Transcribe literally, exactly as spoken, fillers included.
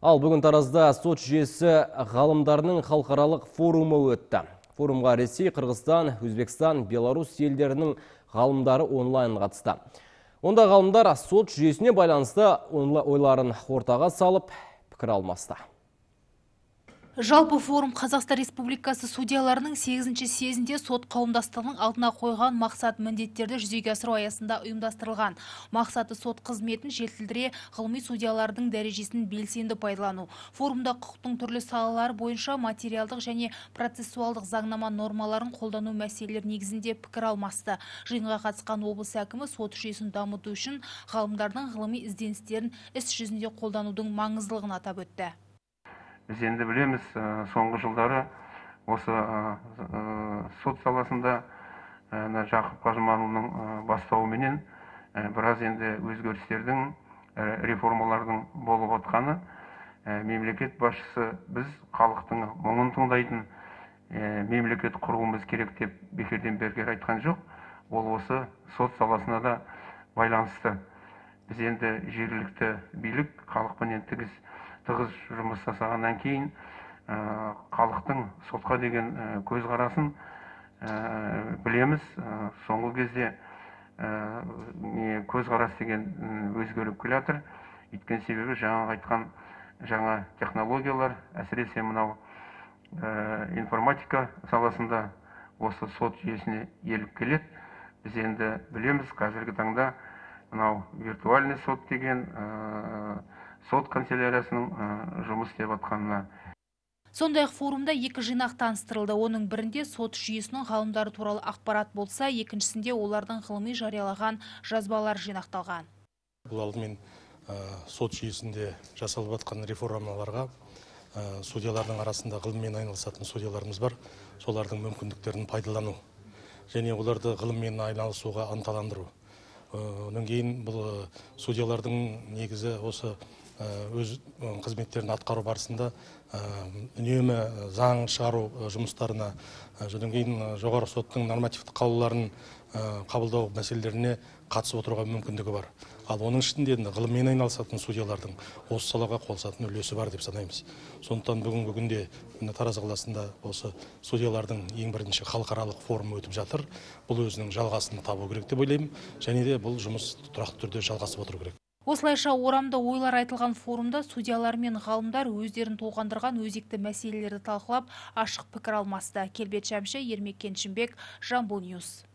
Ал бүгін Таразда сот жүйесі ғалымдарының халықаралық форумы өтті. Форумға Ресей, Қырғызстан, Өзбекстан, Беларусь елдерінің ғалымдары онлайн қатысты. Онда ғалымдар сот жүйесіне байланысты ойларын ортаға салып, пікір алмасты. Жалпы форум Қазақстан Республикасы судьяларының сегізінші съезінде сот қауымдастығының алдына қойған мақсат міндеттерді жүзеге асыру аясында ұйымдастырылған. Мақсаты сот қызметін жетілдіре, ғылыми судьялардың дәрежесін белсенді пайдалану. Форумда құқықтың түрлі салалары бойынша материалдық және процессуалдық заңнама нормаларын қолдану мәселелер негізінде пікір алмасты. Жиынға қатысқан облыс әкімі сот жүйесін дамыту үшін ғалымдардың ғылыми ізденістерін іс жүзінде қолданудың маңыздылығын атап өтті. Біз енді білеміз, соңғы жылдары осы сот саласында Жақып Қажыманұлының бастауыменен біраз енді өзгерістердің, реформалардың болып отқаны, мемлекет басшысы біз халықтың мұңын тыңдайтын мемлекет құруымыз керек деп бекерден бекер айтқан жоқ. Ол осы сот саласына да байланысты. Біз енді жергілікті билік халықпен тығыз тығыз жұмыс жасағаннан кейін халықтың сотқа деген көзқарасын білеміз. Соңғы кезде көзқарас деген өзгеріп келе жатыр. Өйткені себебі жаңа айтқан жаңа технологиялар, әсіресе мынау информатика саласында осы сот жүйесіне еліп келеді. Біз енді білеміз, қазіргі таңда мынау виртуальный сот деген сот канцеляриясының жұмыс істеп жатқанына. Сондай-ақ форумда екі жинақ таныстырылды. Оның бірінде сот жүйесінің ғалымдары туралы ақпарат болса, екіншісінде олардың ғылыми жариялаған жазбалар жинақталған. Бұл алдымен сот жүйесінде жасалып жатқан реформаларға судьялардың арасында ғылыммен айналысатын судьяларымыз бар. Солардың мүмкіндіктерін пайдалану және оларды ғылыммен айналысуға ынталандыру. Онан кейін бұл судьялардың негізі осы өз қызметтерін атқару барысында үнемі заң шығару жұмыстарына, содан кейін жоғары соттың нормативтік қаулыларын қабылдау мәселелеріне қатысып отыруға мүмкіндігі бар. Ал оның ішінде ғылыммен айналысатын судьялардың осы салаға қосатын үлесі бар деп санаймыз. Сондықтан бүгінгі күнде Тараз қаласында осы судьялардың ең бірінші халықаралық форумы өтіп жатыр. Бұл өзінің жалғасын табу керек деп ойлаймын, және де бұл жұмыс тұрақты түрде жалғасып отыру керек. Осылайша орамды ойлар айтылған форумда судьялар мен ғалымдар өздерін толғандырған өзекті мәселелерді талқылап, ашық пікір алмасты. Келбет Шәмші, Ермек Кеншімбек, Жамбыл Ньюс.